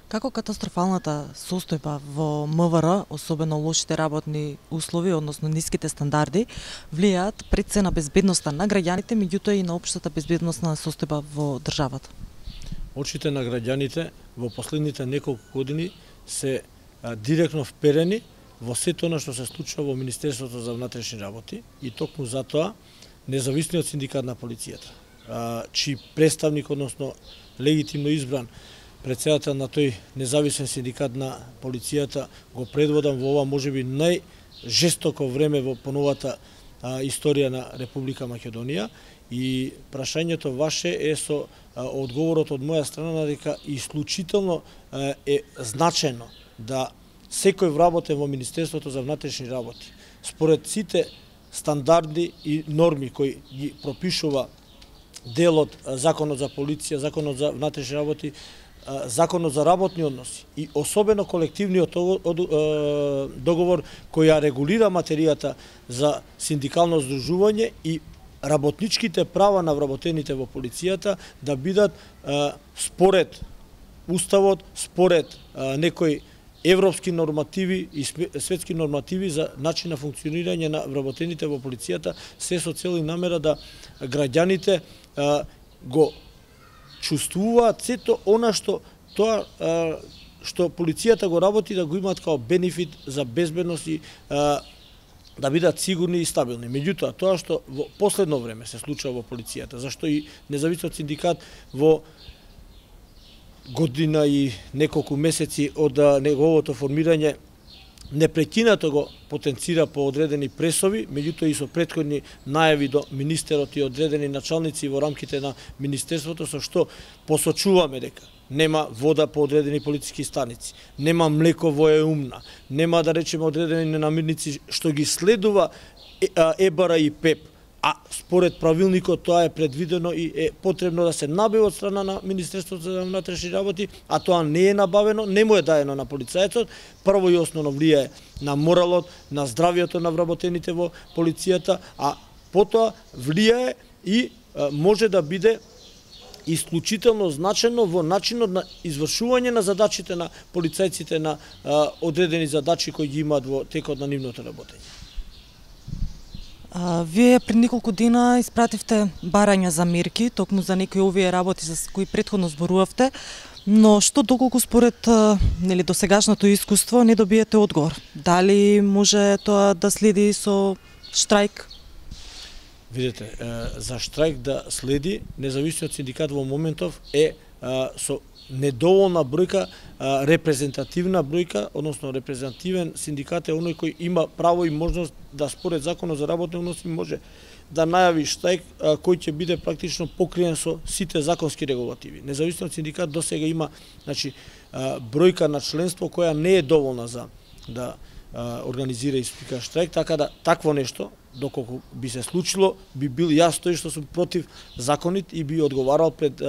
Како катастрофалната состојба во МВР, особено лошите работни услови, односно ниските стандарди, влијаат пред се на безбедноста на граѓаните, меѓутоа и на општата безбедносна состојба во државата? Очите на граѓаните во последните неколку години се директно вперени во сето она што се случува во Министерството за внатрешни работи и токму затоа независниот синдикат на полицијата, чиј представник, односно легитимно избран председател на тој независен синдикат на полицијата, го предводам во ова можеби најжестоко време во поновата историја на Република Македонија, и прашањето ваше е со одговорот од моја страна дека исклучително е значено да секој вработен во Министерството за внатрешни работи, според сите стандарди и норми кои ги пропишува делот Законот за полиција, Законот за внатрешни работи, Законот за работни односи и особено колективниот договор кој ја регулира материјата за синдикално здружување и работничките права на вработените во полицијата да бидат според Уставот, според некои европски нормативи и светски нормативи за начин на функционирање на вработените во полицијата, се со цел и намера да граѓаните го чувствуваат сето она што полицијата го работи, да го имаат као бенефит за безбедност и да бидат сигурни и стабилни. Меѓутоа, тоа што во последно време се случува во полицијата, зашто и независниот синдикат во година и неколку месеци од неговото формирање непрекинато го потенцира по одредени пресови, меѓутоа и со претходни најави до министерот и одредени началници во рамките на министерството, со што посочуваме дека нема вода по одредени полициски станици, нема млеко во Еумна, нема да речеме одредени намирници што ги следува ЕБАРА и ПЕП, а според правилникот тоа е предвидено и е потребно да се набави од страна на Министерството за внатрешни работи, а тоа не е набавено, не му е даено на полицајецот, прво и основно влијае на моралот, на здравието на вработените во полицијата, а потоа влијае и може да биде исклучително значено во начинот на извршување на задачите на полицајците, на одредени задачи кои ги имаат во текот на нивното работење. Вие пред неколку дена испративте барања за мерки, токму за некои овие работи за кои претходно зборувавте, но што доколку според досегашното искуство не добиете одговор? Дали може тоа да следи со штрајк? Видете, за штрајк да следи, независниот синдикат во моментов е со недоволна бројка, репрезентативна бројка, односно репрезентативен синдикат е оној кој има право и можност да според Законот за работни односи може да најави штрајк кој ќе биде практично покриен со сите законски регулативи. Независниот синдикат досега има, значи, бројка на членство која не е доволна за да организира и спика штрајк, така да такво нешто, доколку би се случило, би бил јас тој што сум против законит и би одговарал пред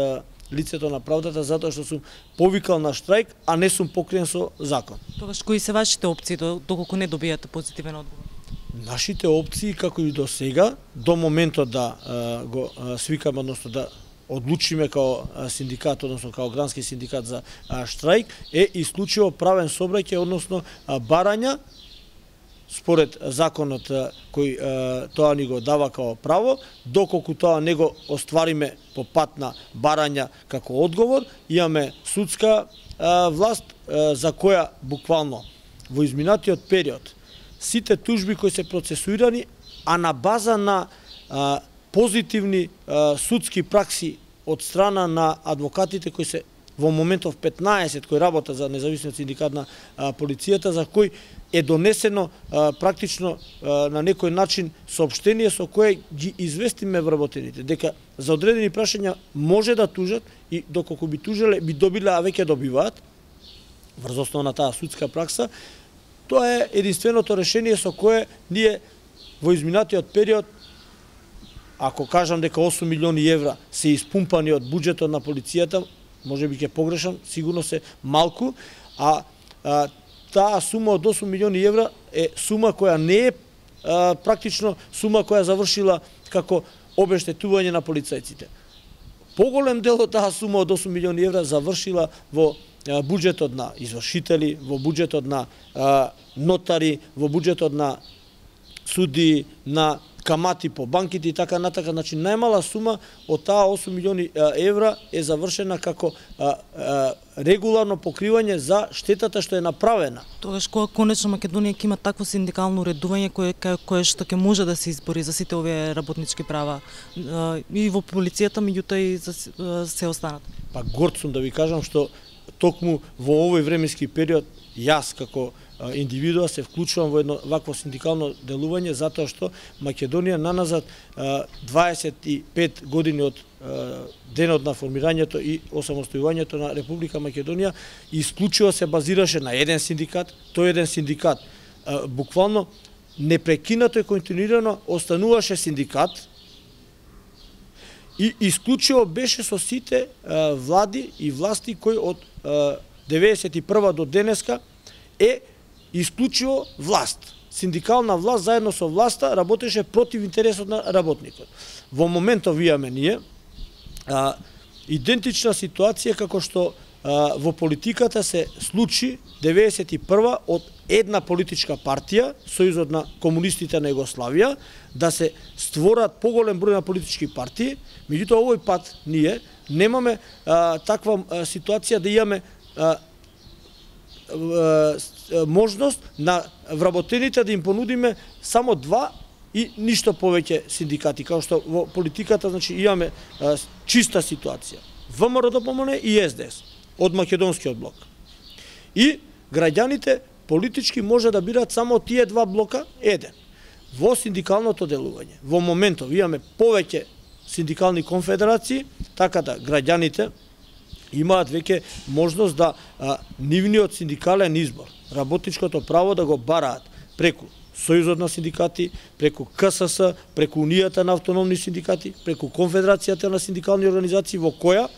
лицето на правдата затоа што сум повикал на штрајк, а не сум покриен со закон. Тогаш кои се вашите опции доколку не добијате позитивен одговор? Нашите опции, како и до сега, до моментот да го свикаме, односно да одлучиме као синдикат, односно као грански синдикат за штрајк, е исклучиво правен собраќај, односно барања според законот кој тоа ни го дава као право, доколку тоа не го оствариме по пат на барања како одговор, имаме судска власт за која буквално во изминатиот период сите тужби кои се процесуирани, а на база на позитивни судски пракси од страна на адвокатите кои се во моментов 15 кои работат за независниот синдикат на полицијата, за кој е донесено практично на некој начин соопштение со кое ги известиме вработените дека за одредени прашања може да тужат и доколку би тужиле би добиле, а веќе добиваат врз основа на таа судска пракса. Тоа е единственото решение со кое ние во изминатиот период, ако кажам дека 8 милиони евра се испумпани од буџетот на полицијата, може би ќе погрешам, сигурно се малку, а таа сума од 8 милиони евра е сума која не е практично сума која завршила како обештетување на полицајците. Поголем дел од таа сума од 8 милиони евра завршила во буџетот на извршители, во буџетот на нотари, во буџетот на суди, на камати по банките и така натака. Значи најмала сума од таа 8 милиони евра е завршена како регуларно покривање за штетата што е направена. Тогаш кога конечно Македонија ќе има такво синдикално уредување кое што ќе може да се избори за сите овие работнички права и во полицијата, меѓутоа и за се останат. Па горд сум да ви кажам што токму во овој временски период јас како индивидуа се вклучувам во едно вакво синдикално делување затоа што Македонија наназад 25 години од денот на формирањето и осамостојувањето на Република Македонија исклучиво се базираше на еден синдикат. Тој еден синдикат буквално непрекинато и континуирано остануваше синдикат и исклучиво беше со сите влади и власти кои од 91 до денеска е исклучиво власт. Синдикална власт заедно со власта работеше против интересот на работникот. Во моментов имаме ние идентична ситуација како што во политиката се случи 91 од една политичка партија, Сојузот на комунистите на Југославија, да се створат поголем број на политички партии, меѓутоа овој пат ние немаме таква ситуација да имаме можност на вработените да им понудиме само 2 и ништо повеќе синдикати, како што во политиката значи имаме чиста ситуација. ВМРО-ДПМН и СДС од македонскиот блок. И граѓаните политички може да бират само тие 2 блока еден. Во синдикалното делување. Во моментов имаме повеќе синдикални конфедерации, така да граѓаните имаат веќе можност да нивниот синдикален избор, работничкото право да го бараат преку Сојузот на синдикати, преку КСС, преку Унијата на автономни синдикати, преку Конфедерацијата на синдикални организации, во која,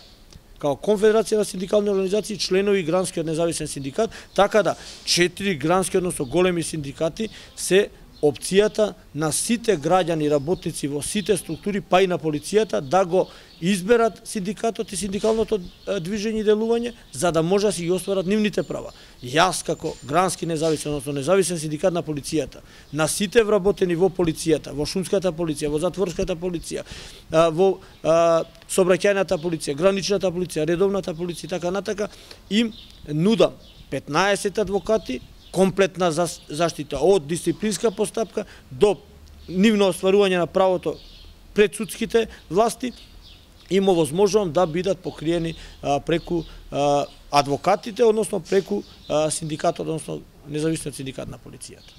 као Конфедерација на синдикални организации, членови гранскиот независен синдикат, така да 4 грански, односно големи синдикати се опцијата на сите граѓани и работници во сите структури, па и на полицијата, да го изберат синдикатот и синдикалното движење и делување, за да може да си ги остварат нивните права. Јас како грански независен, односно независен синдикат на полицијата, на сите вработени во полицијата, во шумската полиција, во затворската полиција, во сообраќајната полиција, граничната полиција, редовната полиција и така натака, им нудам 15 адвокати, комплетна заштита од дисциплинска постапка до нивно остварување на правото пред судските власти, им овозможувам да бидат покриени преку адвокатите, односно преку синдикатот, односно независниот синдикат на полицијата.